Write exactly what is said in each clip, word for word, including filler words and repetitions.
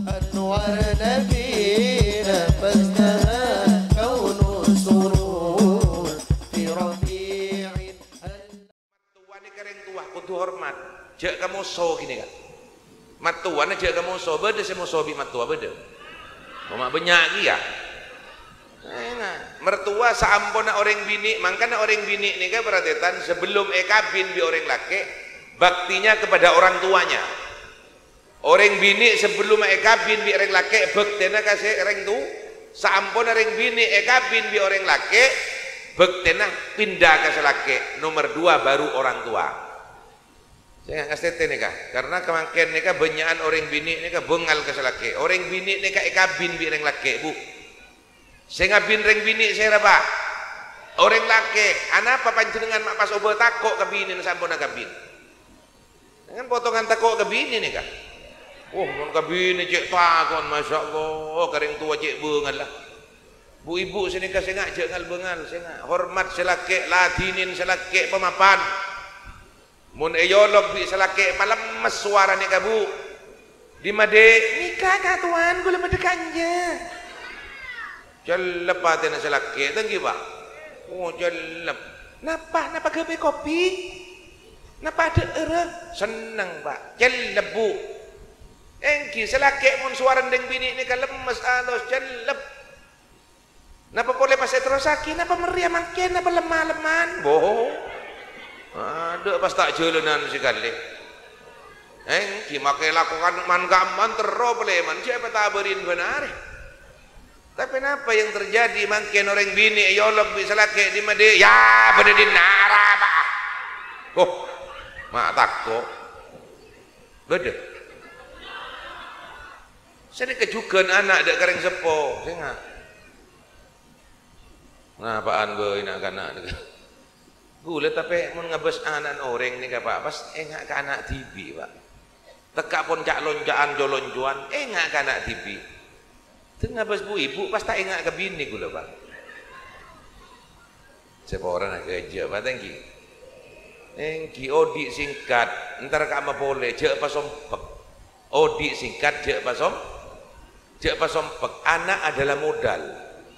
أنوار نبينا فازدهى كون السرور في ربيع. Mattowa nèka rèng towa kodhu hormat. Jhâ' kamoso ghânèka. Mattowana jhâ' kamoso. Bâdâ sè moso bi' mattowa, bâdâ? Coma bânnya' kèya. Enga'. Mertua saamponna orèng binè', mangkana orèng binè' nèka, para tarètan, sebelum èkabin bi' orèng lakè', baktinya kepada orang tuanya. Orèng binè' sabellunna èkabin bi' rèng lakè', bhâktèna ka sè rèng tu-, saamponna rèng binè' èkabin bi' orèng lakè', bhâktèna pinda ka sè lakè', nomer dua baru orang tua. Sènga' ngastètè nèka, karna kamangkèn nèka bânnya'an orèng binè' nèka bângal ka sè lakè'. Orèng binè' nèka èkabin bi' rèng lakè', Bu. Sè ngabin rèng binè' sèra, Pa'? Orèng lakè'. Anapa panjhennengngan ma' pas obâ tako' ka binèna saamponna kabin? Jangan potongan tako' ka binè nèka. Wah, mon ka binè cè' tako'en, masyaallah, ka rèng towa cè' bângalla. Bu-ibu sè nèka sènga' jhâ' ngal-bângal, sènga' hormat sè lakè', ladhinin sè lakè', pamapan. Mon èyolok bi' sè lakè' palemmes sowarana nèka, Bu. "Dimma, Dhi'?" "Nèka, Ka' Towan, kaulâ bâdâ kanja." Cellep atèna sè lakè', ta' ènggi, Pa'? Oh, cellep. "Napa, napa ghâbây kopi? Napa adhâ'ârâ?" "Senneng, Pa'." Cellep, Bu. Ènggi, sè lakè' mon sowarana rèng binè' nèka lemmes, alos, cellep. Napa polè pas èterrossaghi? Napa mèrrèya mangkèn? Napa lem-malemman? Bo. Adâ' pas ta' jhâlânan sakalè. Ènggi makè lakowan man-kamman terro palèman, jhâ' èpatabârin bân arè. Tapè napa yang terjadi mangkèn orèng binè' èyolok bi' sè lakè' dimma, Dhi'? "Ya, bâdâ dinna', arapa?" Oh, ma' tako'. Bâdâ. Sanèka jhughân ana' dâ' ka rèng seppo, sènga'. Napa'an bhâi na'-kana' nèka. Ghulâ tapè mon ngabâs ana'na orèng nèka, Pa', pas enga' ka ana' dhibi', Pa'. Tekka' pon ca'-lonca'an, co-loncowan, enga' ka ana' dhibi'. Dâ' ngabâs bu-ibu pas ta' enga' ka binè ghulâ, Pa'. Sè porana ghâjâ, Pa', ta' ènggi. Ènggi, odi' singkat, entar ka'amma polè, jhâ' pasompek. Odi' singkat, jhâ' pasom-, jhâ' pasompek. Ana' adalah modal.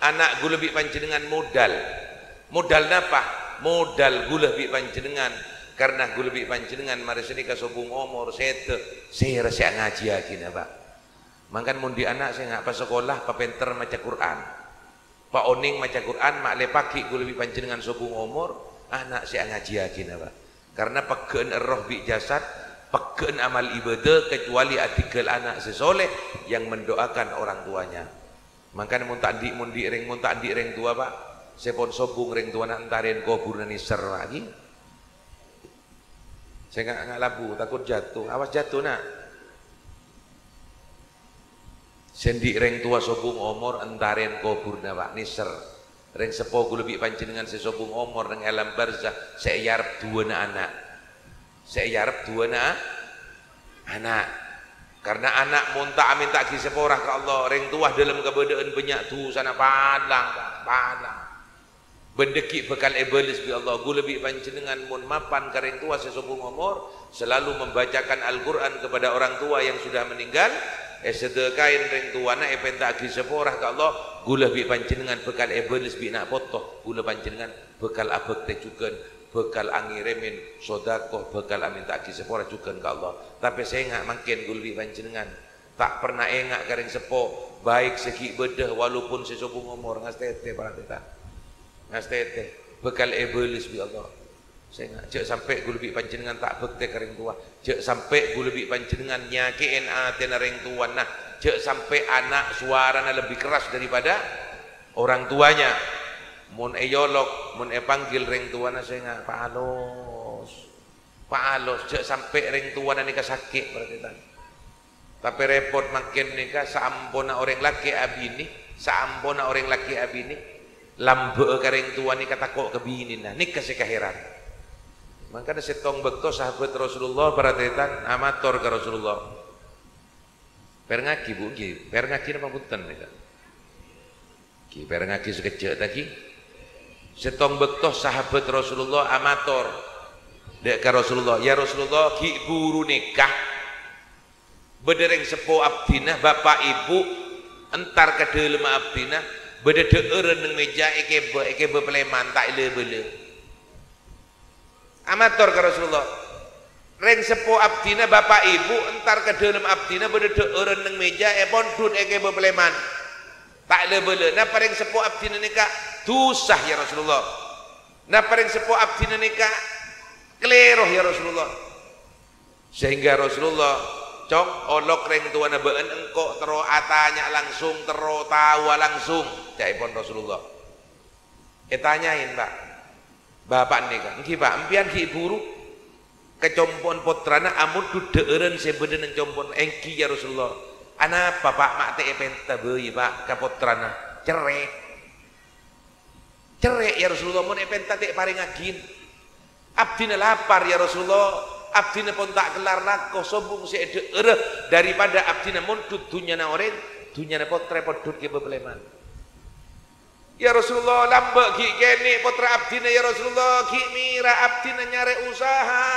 Ana' ghulâ bi' panjhennengngan modal. Modal napa? Modal ghulâ bi' panjhennengngan. Karna ghulâ bi' panjhennengngan marè sanèka sobung omor, sèdhâ, sèra sè angajiyâghina, Pa'. Mangkana mon andi' ana' sè nga' pasakola, papènter maca Qur'an. Paonèng maca Qur'an, ma'lè paghi' ghulâ bi' panjhennengngan sobung omor, ana' sè angajiyâghina, Pa'. Karna pegghâ'ân erroh bi' jasad, pegghâ'ân amal ibadah, kecuali adhingghâl ana' sè soleh yang mendoakan orang tuanya. Mangkana mon ta' andi', mon andi' rèng, mon ta' andi' rèng towa, Pa', sè pon sobung rèng towana entarèn koburna nèser, Pa', ghi. Sè nga', nga' labu, takut jatuh. Awas jatuh, Na'. Sè andi' rèng towa sobung omor, entarèn koburna, Pa', nèser. Rèng seppo ghulâ bi' panjhennengngan sè sobung omor neng alam barzakh, sè èarep duwâna ana'. Sè èarep duwâna ana'. Karna ana' mon ta' amènta'aghi sapora ka Allah, rèng towa dâlem kabâdâ'ân bânnya' dhusana, palang, Pa', palang. Bân dhâggi' bhâkal èbâles bi' Allah. Ghulâ bi' panjhennengngan mon mapan ka rèng towa sè sobung omor, selalu membacakan Al-Qur'an kepada orang tua yang sudah meninggal, èsadhâkaè rèng towana, èpènta'aghi sapora ka Allah, ghulâ bi' panjhennengngan bhâkal èbâles bi' na' poto, ghulâ panjhennengngan bhâkal abhâktè jhughân, bhâkal angèrèmèn sodakoh, bhâkal amènta'aghi sapora jhughân ka Allah. Tapè sènga' mangkèn ghulâ bi' panjhennengngan ta' perna enga' ka rèng seppo, baik sè ghi' bâdâ walaupun sè sobung omor, ngastètè, para tarètan. Ngastètè, bhâkal èbâles bi' Allah. Sènga', jhâ' sampè' ghulâ bi' panjhennengngan ta' bhâktè ka rèng towa. Jhâ' sampè' ghulâ bi' panjhennengngan nyakè'è atèna rèng towana. Jhâ' sampè' ana' sowarana lebbi kerras daripada orang tuanya. Mon èyolok, mon èpanggil rèng towana, sènga', paalos. Paalos, jhâ' sampè' rèng towana nèka sakè', para tarètan. Tapè rèpot mangkèn nèka, saamponna orèng lakè' abinè, saamponna orèng lakè' abinè, lambâ'â ka rèng towa nèka tako' ka binèna, nèka sè kahèran. Mangkana sèttong bâkto sahabat Rasulullah, para tarètan, amator ka Rasulullah. Pèrengngaghi, Bu, ghi. Pèrengngaghi napa bhunten, nèka? Ghi, pèrengngaghi sakejjhâ', ta, ghi. Sèttong bâkto sahabat Rasulullah amator dâ' ka Rasulullah, "Ya Rasulullah, ghi' buru nèka." Bâdâ rèng seppo abdhina, bapa' ibu, entar ka dâlemma abdhina, bâdâ dhâ'ârân neng mèja èkèbâ, èkèbâ palèman, ta' èlâ-bâlâ. Amator ka Rasulullah, "Rèng seppo abdhina, bapa' ibu, entar ka dâlem abdhina, bâdâ dhâ'ârân neng mèja, èpondhut, èkèbâ palèman, ta' èlâ-bâlâ. Napa rèng seppo abdhina nèka dhusa, ya Rasulullah? Napa rèng seppo abdhina nèka kalèro, ya Rasulullah?" Sehingga Rasulullah, "Cong, olok rèng towana bâ'ân engko' terro atanya langsung, terro taowa langsung," ca'èpon Rasulullah. Ètanyaè, "Pak, Bapa' nèka, ènggi, Pak, empèyan ghi' buru ka compo'na pottrana amondhut dhâ'ârân sè bâdâ neng compo'na?" "Ènggi, ya Rasulullah." "Anapa, Pak, ma' ta' èpènta bhâi, Pak, ka pottrana?" "Cerrè'." "Cerrè', ya Rasulullah, mon èpènta ta' èparèngaghin. Abdhina lapar, ya Rasulullah. Abdhina pon ta' kellar lako, sobung sè èdhâ'ârâ daripada abdhina mondhut dhunnyana orèng, dhunnyana pottra èpondhut kèbâ palèman." "Ya Rasulullah, lambâ' ghi' kènè' pottra abdhina, ya Rasulullah, ghi' mèra abdhina nyarè usaha,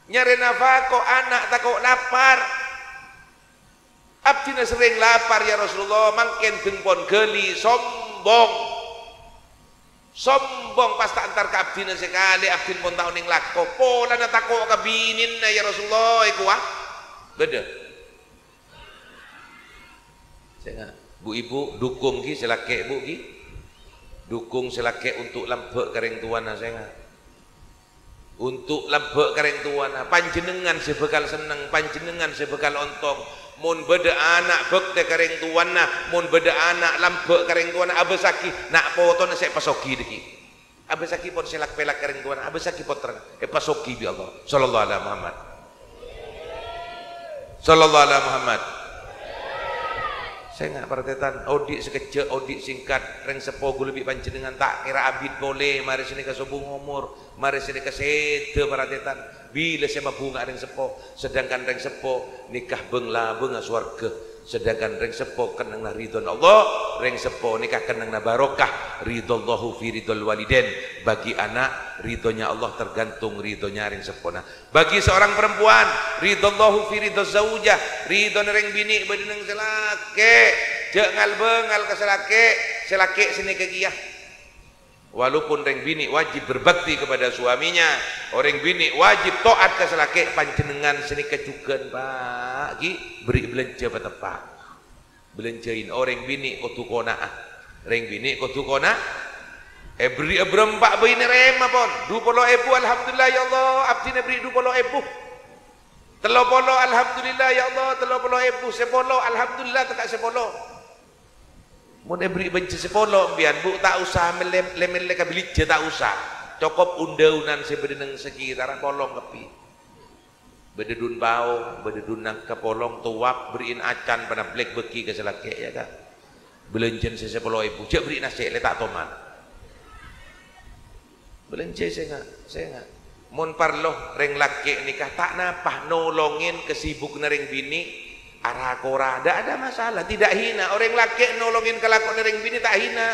nyarè nafako ana' tako' lapar. Abdhina serrèng lapar, ya Rasulullah, mangkèn dhâng pon ghâli, sombong. Sombong, pas ta' entar ka abdhina sakalè, abdhina pon ta' onèng lako. Polana tako' ka binèna, ya Rasulullah, èkowa." Bâdâ. Sènga'. Bu, ibu, dukung ghi sè lakè', Bu, ghi. Dukung sè lakè' untuk lambâ' ka rèng towana, sènga'. Untuk lambâ' ka rèng towana, panjhennengngan sè bhâkal senneng, panjhennengngan sè bhâkal ontong. Mon bâdâ ana' bhâktè ka rèng towana, mon bâdâ ana' lambâ' ka rèng towana, abâssaghi na' potona sè èpasoghi dhâggi'. Abâssaghi pon sè lak-pèlak ka rèng towana, abâssaghi pottrana, èpasoghi bi' Allah. Sallallahu ala Muhammad. Sallallahu ala Muhammad. Sènga' parataètan, odi' sakejjhâ', odi' singkat, rèng seppo ghulâ bi' panjhennengngan ta' kèra abit polè, marè sanèka sobung omor, marè sanèka sèdhâ parataètan. Bilâ sè mabhunga rèng seppo, sedangkan rèng seppo nèka bâng-labângnga sowarghâ. Sedangkan rèng seppo kennengnganna ridhona Allah, rèng seppo nèka kennengnganna barokah, ridhallahu fi ridhal walidain. Bagi anak, ridhonya Allah tergantung ridhonya rèng seppona. Bagi seorang perempuan, ridhallahu fi ridhaz zaujah, ridhona rèng binè' bâdâ neng sè lakè'. Jhâ' ngal-bângal ka sè lakè', sè lakè' sanèka kèya. Walaupun rèng binè' wajib berbakti kepada suaminya, orèng binè' wajib taat ka sè lakè', panjhennengngan sanèka jhughân, Pak, ghi, bherri' bâlânjhâ pateppa'. Bâlânjhâi, orèng binè' kodhu kona'a, rèng binè' kodhu kona-, èbherri'â bârâmpa bhâi narèma pon, du polo èbu, alhamdulillah, ya Allah, abdhina bherri' du polo èbu. Tello polo, alhamdulillah, ya Allah, tello polo èbu, sapolo, alhamdulillah, tekka' sapolo. Mon èbherri' bâjjhâ sapolo empèyan, Bu, ta' osa mellè, lè-mellè ka Bilijjhâ, ta' osa. Cokop un-dâunan sè bâdâ neng sakètarra polong kabbhi. Bâdâ dun pao, bâdâ dun nangka polong, towap, bherri'in acan, panabblek bâghi ka sè lakè', ya, Ka'. Bâlânjhâna sè sapolo èbu, jhâ' bherri' nasè', lè ta' toman. Bâlânjhâ sènga', sènga'. Mon parlo, rèng lakè' nèka ta' napa nolongè kasibukna rèng binè', ara-kora, ndak ada masalah, tidak hina. Orèng lakè' nolongè kalakowanna rèng binè' ta' hina.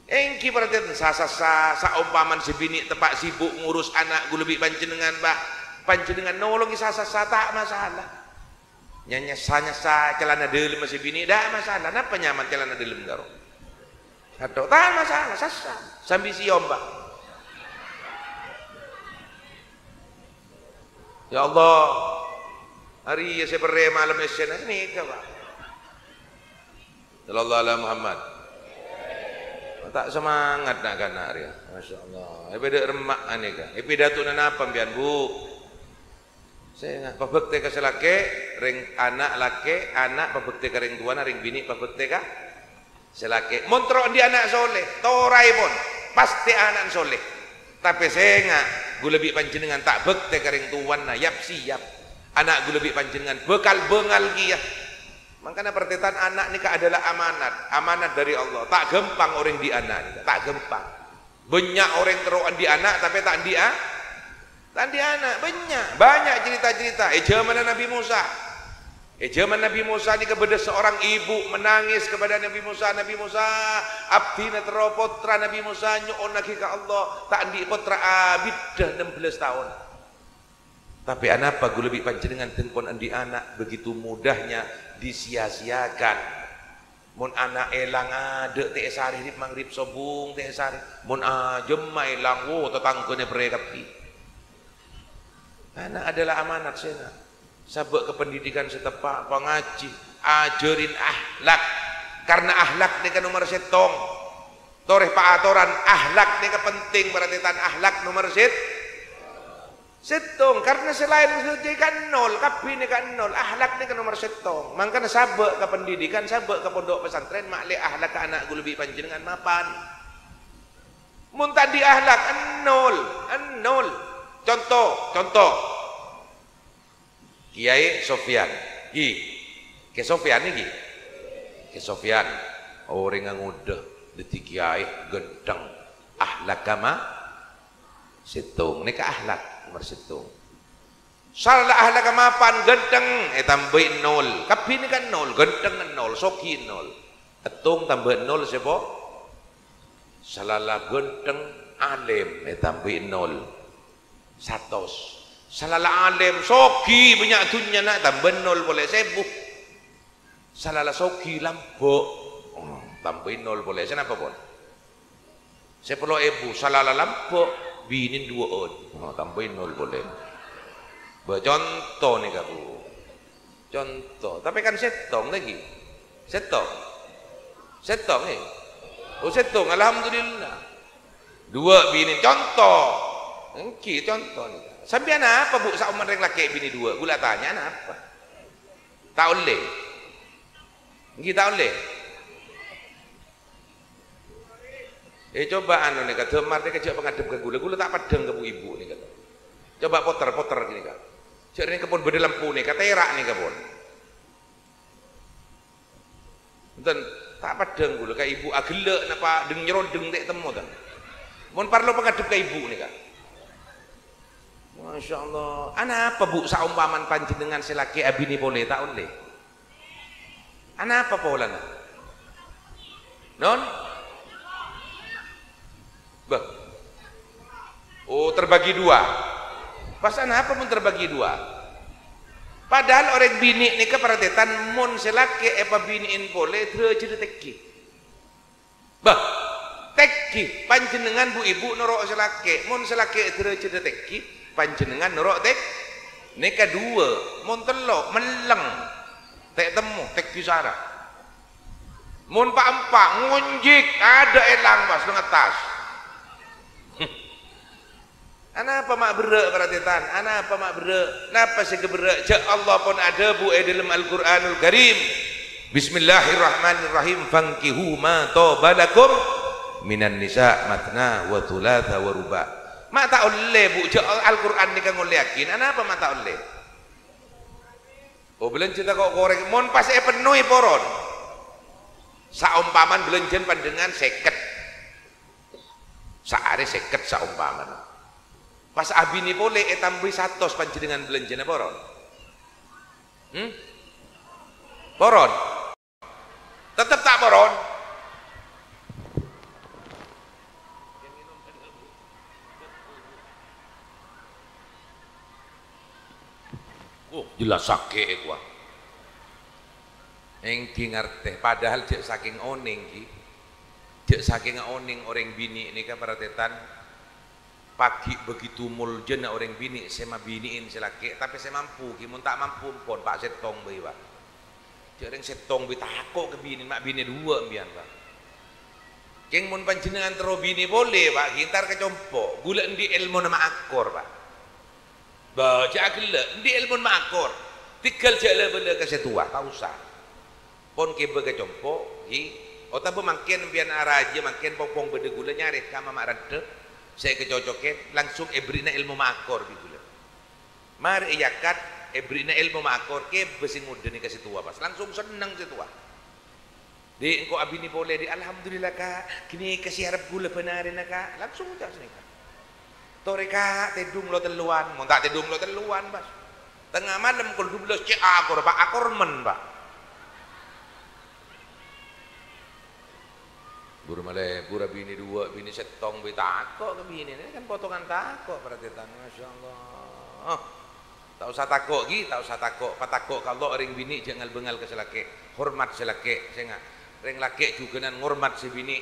Ènggi parhatian, sa-, sa-, sa-, saompamana sè binè' teppa' sibuk ngurus ana' ghulâ bi' panjhennengngan, Pak. Panjhennengngan nolongè sa-, sa-, sa-, ta' masalah. Nya-, nyassa-nyassa calana dâlemma sè binè', ndak masalah. Napa nyaman calana dâlem, karo? Atau, ta' masalah, sassa. Sambi sèyom, Pak. Ya Allah, arèya sè perrè malem essèna, sanèka, Pak. Sallallahu ala Muhammad. Ta' semangat na'-kana' rèya. Masya Allah. Èpadâ remma' anèka. Èpidatona napa, empèyan, Bu? Sènga', pabhâktè ka sè lakè', rèng ana' lakè', ana' pabhâktè ka rèng towana, rèng binè' pabhâktè ka sè lakè'. Mon terro andi' ana' soleh, toraèpon, pastè ana'na soleh. Tapè sènga', ghulâ bi' panjhennengngan ta' bhâktè ka rèng towana, yap-siyap. Ana' ghulâ bi' panjhennengngan bhâkal bângal kèya. Mangkana, parhatian, ana' nèka adalah amanat, amanat dari Allah. Ta' ghâmpang orèng andi' ana' nèka, ta' ghâmpang. Bânnya' orèng terro andi' ana', tapè ta' andi' a-, ta' andi' ana'. Bânnya', bânnya' cerita-cerita. È jhâmanna Nabi Musa. È jhâman Nabi Musa nèka bâdâ seorang ibu menangis kepada Nabi Musa, "Nabi Musa, abdhina terro pottra." Nabi Musa nyo'onnaghi ka Allah, ta' andi' pottra abiddhâ ennem bellâs taon. Tapè anapa ghulâ bi' panjhennengngan dhân pon andi' ana' begitu mudahnya disia-siakan? Mon ana' èlang adâ' ta' èsarè rip-mangrip sobung ta' èsarè. Mon ajâmma èlang, wo, tatangghâna èpèrè kabbhi. Ana' adalah amanat sè na-, sabâ' ka pendidikan sè teppa', pangajhi, ajhârin akhlak. Karna akhlak nèka nomer sèttong. Torè paatoran, akhlak nèka penting, berarti tan akhlak nomer sèt-, sèttong. Karna sè laèn sadhâjâ kan nol, kabbhi nèka nol. Akhlak nèka nomer sèttong. Mangkana sabâ' ka pendidikan, sabâ' ka pondhuk pesantren, ma'lè akhlak ana' ghulâ bi' panjhennengngan mapan. Mon ta' andi' akhlak, nol, nol. Conto, conto. Kèyaè Sofyan. Ghi. Kè Sofyan nèka. Kè Sofyan. Orèngnga ngodâ dhâddhi kèyaè ghântheng. Akhlak kama sèttong. Nèka akhlak nomer sèttong. Sala akhlak mapan ghântheng, ètambâi nol. Kabbhi nèka nol, ghântheng nol, soghi nol. Èttong tambâ nol sèpo-, Salala ghântheng, alim, ètambâi nol. Satos. Salala alim, soghi, bânnya' dhunnyana, tambâ nol polè, sèbu. Salala soghi, lambâ'. Oh, tambâi nol polè. Sè napa pon? Sapolo èbu. Salala lambâ', binèn duwâ'ân. Oh, tambâi nol polè. Bâ, conto nèka, Bu. Conto, tapè kan sèttong lagi. Sèttong. Sèttong, eh. Oh, sèttong, alhamdulillah. Duwâ' binè, conto. Èngghi, conto nèka. Sampèyan apa, Bu, saoman rèng lakè' binè duwâ'? Ghulâ tanya, napa? Ta' ollè? Èngghi, ta' ollè? Eh, coba anu nèka, dhâmar nèka jhâ' pangadhep ka ghulâ. Ghulâ ta' peddhâng ka bu-ibu nèka. Coba poter, poter nèka. Jhâ' nèka pon bâdâ lampu nèka, tèra' nèka pon. Enten, ta' peddhâng ghulâ ka ibu aghellâ' napa dheng-nyerondheng ta' temmo, ten. Mon parlo pangadhep ka ibu nèka. Masya Allah. Anapa, Bu, saompamana panjhennengngan sè lakè' abinè polè, ta' ollè? Anapa polana? Non? Bâh. Oh, terbagi dua. Pas anapa mon terbagi dua? Padahal orèng binè' nèka, parhatian, mon sè lakè' èpabinè'èn polè, dârâjhâddhâ tèngghi. Bâh, tèngghi, panjhennengngan bu-ibu noro' sè lakè'. Mon sè lakè' dârâjhâddhâ tèngghi, panjhennengngan noro' tèng-, nèka duwâ', mon tello', melleng. Ta' temmo, tèngghi sara. Mon pa'-empa', ngonjhik, adâ' èlang pas neng attas. Anapa ma' berrâ', parhatian? Anapa ma' berrâ'? Napa sè èkaberrâ'? Jhâ' Allah pon adhâbu è dhâlem Al-Qur'anul Karim, "Bismillahirrahmanirrahim, fankihu ma thaba lakum minan nisa matsna wa tsulatsa wa ruba'." Ma' ta' ollè, Bu, jhâ' Al-Qur'an nèka ngollèyaghi. Anapa ma' ta' ollè? Oh, bâlânjhâ tako' korèng. Mon pas èpennowè poron. Saompamana bâlânjhâna panjhennengngan sèket. Saarè sèket saompamana. Pas abinè polè ètambâi satos panjhennengngan bâlânjhâna poron? Hmm? Poron? Tettep ta' poron? Oh, jelas sakè' è kowa. Èngghi ngartè, padahal jhâ' sakèng onèng, ghi. Jhâ' sakènga onèng orèng binè' nèka, parhatian, paghi' begitu moljâna orèng binè' sè mabinè'èn sè lakè', tapè sè mampu, ghi, mon ta' mampu, empon, pa' sèttong bhâi, Pa'. Jhâ' rèng sèttong bhâi tako' ka binè', ma' binè' duwâ' empèyan, Pa'. Kèng mon panjhennengngan terro binè' polè, Pa', ghi, entar ka compo', ghulâ andi' èlmona ma' akor, Pa'. Bâ, jhâ' aghellâ', andi' èlmona ma' akor. Tèghâl jhâ' la-bâlâ ka sè towa, ta' osa. Pon kèbâ ka compo', ghi, otabâ mangkèn empèyan arajâ mangkèn pong-pong bâdâ ghulâ nyarè ka mama' randhâ sè èkacocokè, langsung èberri'na èlmo ma' akor bi' ghulâ. Marè èyakat, èberri'na èlmo ma' akor, kèbâ sè ngodâ nèka sè towa pas, langsung senneng sè towa. Dhi', engko' abinè polè, Dhi'. Alhamdulillah, Ka'. Ghânèka sè arep ghulâ bhânarèna, Ka'. Langsung oca' sanèka. Torè, Ka', tèdung lo' tellowan. Mon ta' tèdung lo' tellowan, pas. Tengnga malem kol dubellâs cè' akor, Pa', akor men, Pa'. Buru malè, buru abinè duwâ', binè sèttong, bhâi tako' ka binèna, kan potongan tako', parhatian, masyaallah. Ta' osa tako', ghi, ta' osa tako'. Patako' ka Allah, orèng binè' jhâ' ngal-bângal ka sè lakè'. Hormat sè lakè', sènga'. Orèng lakè' jhughânan ngormat sè binè'.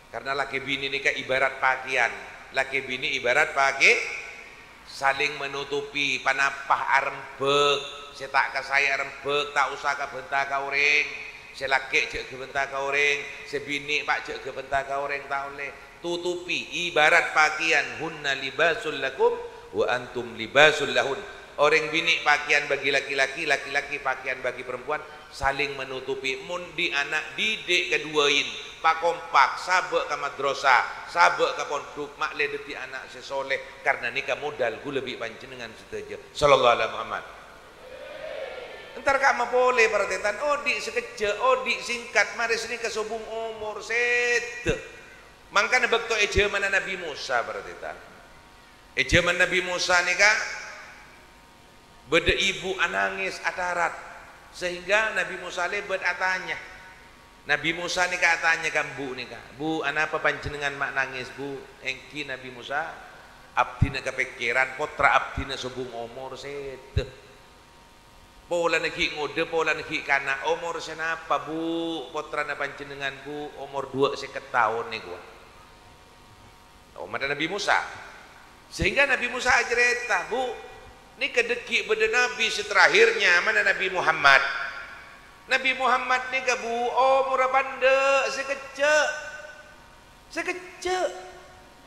Karna lakè binè' nèka ibarat pakèyan. Lakè binè' ibarat pakè-, saling menutupi, panapa arembhâk. Sè ta' kasaè arembhâk, ta' osa kabhânta ka orèng. Sè lakè' jhâ' ghâbhânta ka orèng, sè binè', Pa', jhâ' ghâbhânta ka orèng, ta' ollè. Tutupi, ibarat pakèyan, "Hunna libasul lakum wa antum libasul lahun." Orèng binè' pakèyan bagi laki-laki, laki-laki pakèyan bagi perempuan, saling menutupi. Mon dhi' ana', didik kaduwâin, pakompak, sabâ' ka madrasah, sabâ' ka pondhuk, ma'lè dhâddhi ana' sè soleh, karna nèka modal ghulâ bi' panjhennengngan sadhâjâ. Sallallahu ala Muhammad. Entar ka'emma polè, para tarètan, odi' sakejjhâ', odi' singkat, marè sanèka sobung omor sèdhâ. Mangkana bâkto è jhâmanna Nabbhi Mosa, para tarètan. È jhâman Nabbhi Mosa nèka, bâdâ ibu anangès atarat, sehingga Nabbhi Mosa lèbât atanya. Nabbhi Mosa nèka atanya ka embu' nèka, "Bu, anapa panjhennengngan ma' nangès, Bu?" Èngghi Nabbhi Mosa, "Abdhina kapèkkèran, pottra abdhina sobung omor sèdhâ." Polana ghi' ngodâ, polana ghi' kana'. "Omor sè napa, Bu', pottrana panjhennengngan, Bu'?" "Omor duwâ' sèket taon nèko." Ommadda Nabbhi Mosa. Sehingga Nabbhi Mosa acarèta, "Bu', nèka dhâggi' bâdâ nabbhi sè terakhir, nyamana Nabbhi Muhammad. Nabbhi Muhammad nèka, Bu', omorra pandâ', sakejjhâ'." Sakejjhâ'.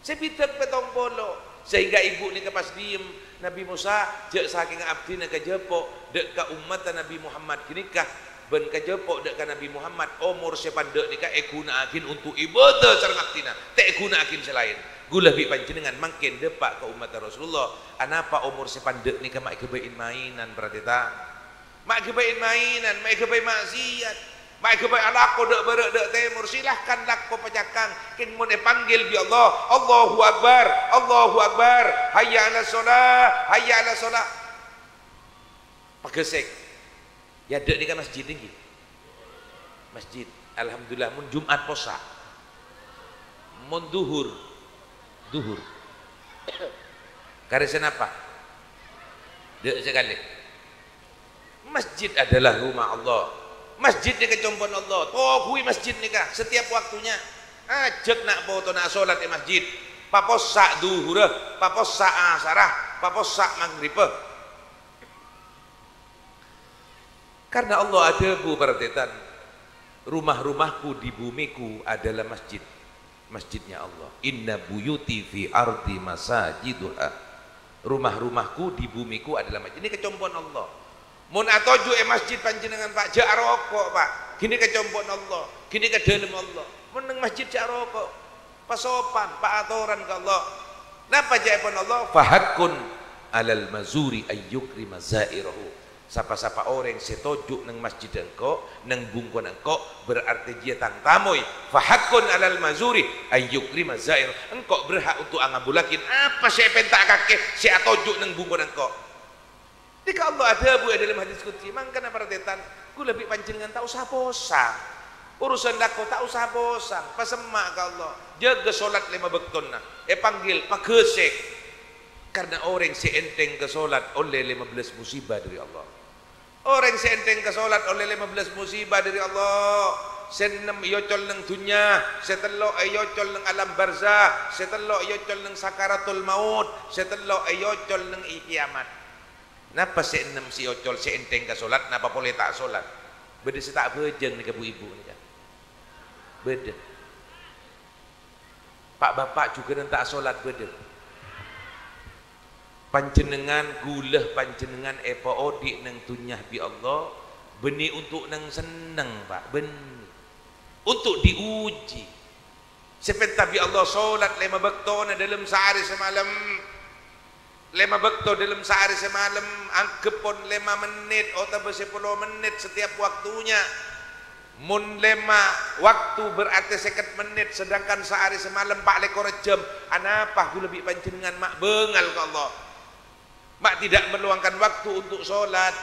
Sè bidhâk pèttong polo. Sehingga ibu nèka pas diyem, "Nabbhi Mosa, jhâ' sakènga abdhina kajhâpo' dâ' ka ommadda Nabbhi Muhammad ghânèka, bân kajhâpo' dâ' ka Nabbhi Muhammad, omor sè pandâ' nèka èghuna'aghin onto' ibâdâ sareng abdhina, ta' èghuna'aghin sè laèn. Ghulâ bi' panjhennengngan mangkèn dâpa' ka ommadda Rasulullah, anapa omor sè pandâ' nèka ma' èghâbây in-maènan, para tarètan?" Ma' èghâbây in-maènan, ma' èghâbây ma'siyat, ma' èghâbây alako dâ' bârâ' dâ' tèmor, silahkan lako pacakang. Kèng mon èpanggil bi' Allah, "Allahu Akbar, Allahu Akbar, hayya 'alas shalah, hayya 'alas shalah." Paghâsèk. È adâ' nèka masjid èngghi. Masjid. Alhamdulillah, mon Jum'at possa'. Mon Dhuhur, Dhuhur. Karè sè napa? Dâ' sakalè. Masjid adalah rumah Allah. Masjid nèka compo'na Allah. Toguwi masjid nèka setiap waktunya. Ajhâk na' potona asolat è masjid. Papossa' Dhuhurra, papossa' Asarra, papossa' Maghribbhâ. Karna Allah adhâbu, para tarètan, "Rumah-rumahku di bumiku adalah masjid, masjidnya Allah. Inna buyuti fi ardi masajiduha." Rumah-rumahku di bumiku adalah masjid. Ghânèka compo'na Allah. Mon atoju' è masjid panjhennengngan, Pa', jhâ' aroko', Pa'. Ghânèka compo'na Allah. Ghânèka dhâlem Allah. Mon neng masjid jhâ' aroko'. Pasopan, paatoran ka Allah. Napa ca'èpon Allah? "Fahaqqun 'alal mazuri ayyukrima za'irahu." Sapa-sapa orèng sè toju' neng masjidda engko', neng bungkona engko', berarti jiyâ tang tamoy. "Fahaqqun 'alal mazuri ayyukrima za'irahu." Engko' berhak onto' angabullaghi apa sè èpènta'a kakè sè atoju' neng bungkona engko'. Nèka Allah adhâbu è dâlem hadis qudsi, "Mangkana para tarètan, ghulâ bi' panjhennengngan ta' osa posang. Urusan lako ta' osa posang. Pasemma' ka Allah. Jâgâ solat lèma bâktona. Èpanggil, paghâsèk." Karna orèng sè ènthèng ka solat ollè lèma bellâs musibah dâri Allah. Orèng sè ènthèng ka solat ollè lèma bellâs musibah dâri Allah. Sè ennem èocol neng dhunnya, sè tello' èocol neng alam barzah, sè tello' èocol neng sakaratul maut, sè tello' èocol neng è kiyamat. Napa sè ennem sè èocol, sè ènthèng ka solat, napa polè ta' solat? Bâdâ sè ta' abhâjâng nèka, bu-ibu nèka? Bâdâ. Pa'-bapa' jhughânan ta' solat bâdâ. Panjhennengngan, ghulâ panjhennengngan èpaodi' neng dhunnya bi' Allah, bânnè onto' neng senneng, Pa', bânnè. Onto' diuji. Sè pènta bi' Allah solat lèma bâktona dâlem saarè samalem. Lèma bâkto dâlem saarè samalem, angghep pon lèma mennit otabâ sapolo mennit setiap waktunya. Mon lèma waktu berarti sèket mennit, sedangkan saarè samalem pa' lèkor jam. Anapa ghulâ bi' panjhennengngan ma' bângal ka Allah? Ma' tidak meluangkan waktu untuk solat?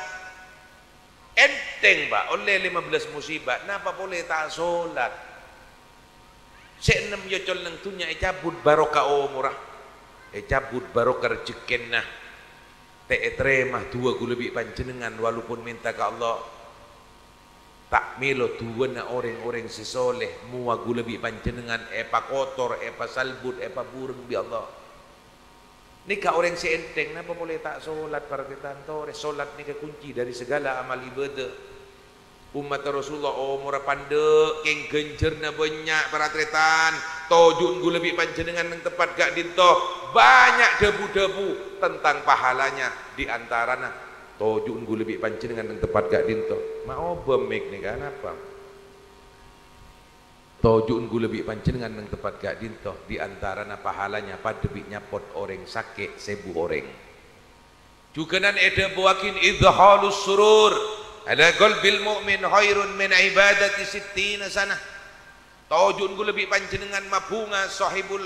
Ènthèng, Pa', ollè lèma bellâs musibah, napa polè ta' solat? Sè ennem èocol neng dhunnya ècabut barokah omorra, ècabut barokah rejhekkèna. Ta' ètarèma du'a ghulâ bi' panjhennengngan, walaupun mènta ka Allah. Ta' mèlo du'ana orèng-orèng sè soleh, mowa ghulâ bi' panjhennengngan èpakotor, èpasalbut, èpabhureng bi' Allah. Nèka orèng sè ènthèng, napa polè ta' solat, para tarètan? Torè, solat nèka kunci dhâri saghâlâ amal ibadah. Ommatta Rasulullah omorra pandâ', kèng ghânjhârna bânnya', para tarètan. Toju'en ghulâ bi' panjhennengngan neng tempat ka'dinto. Bânnya' dhâbu-dhâbu tentang pahalanya, di antarana, toju'en ghulâ bi' panjhennengngan neng tempat ka'dinto. Ma' obâ mik nèka, napa? Toju'en ghulâ bi' panjhennengngan neng tempat ka'dinto, di antarana pahalanya padâ bi' nyapot orèng sakè' sèbu orèng. Jhughânan èdhâbuwâghi, "Idhalus surur ala qalbil mu'min khairun min ibadati sittina sanah." Toju'en ghulâ bi' panjhennengngan mabhunga Sohibul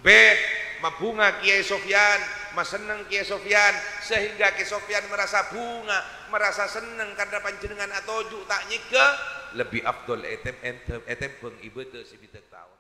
Bait, mabhunga Kèyaè Sofyan, masenneng Kèyaè Sofyan, sehingga Kèyaè Sofyan marasa bhunga, marasa senneng karna panjhennengngan atoju' ta' nyèngghâ, lebbi afdol ètem-, èntem-, ètèmbhâng ibadah sè bidhâk taon.